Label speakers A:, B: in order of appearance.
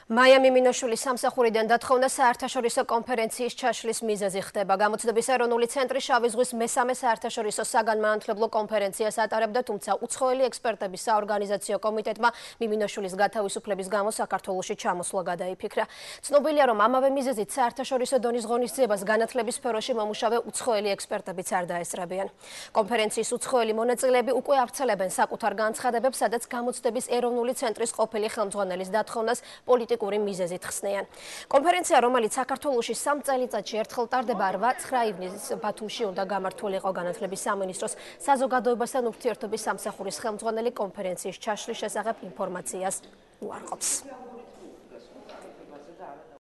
A: მაია მიმინოშვილის სამსახურიდან დათხოვნა საერთაშორისო კონფერენციის ჩაშლის მიზეზი ხდება. გამოცდების ეროვნული ცენტრი შავი ზღვის მესამე საერთაშორისო საგანმანათლებლო კონფერენციას ატარებდა, თუმცა უცხოელი ექსპერტების საორგანიზაციო კომიტეტმა მიმინოშვილის გათავისუფლების გამო საქართველოში ჩამოსვლა გადაიფიქრა. ცნობილია, რომ ამავე მიზეზით საერთაშორისო დონის ღონისძიებას განათლების სფეროში მომუშავე უცხოელი ექსპერტებიც არ დაესწრებიან. კონფერენციის უცხოელი მონაწილეები უკვე ავრცელებენ საკუთარ განცხადებებს, სადაც გამოცდების ეროვნული ცენტრის ყოფილი ხელმძღვანელის დათხოვნას პოლიტიკური მიზეზით ხსნიან. კონფერენცია, რომელიც საქართველოში 3 წელიწადში ერთხელ ტარდება, 8-9 ივნისს ბათუმში უნდა გამართულიყო. განათლების სამინისტროს საზოგადოებასთან ურთიერთობის სამსახურის ხელმძღვანელი კონფერენციის ჩაშლის შესახებ ინფორმაციას უარყოფს.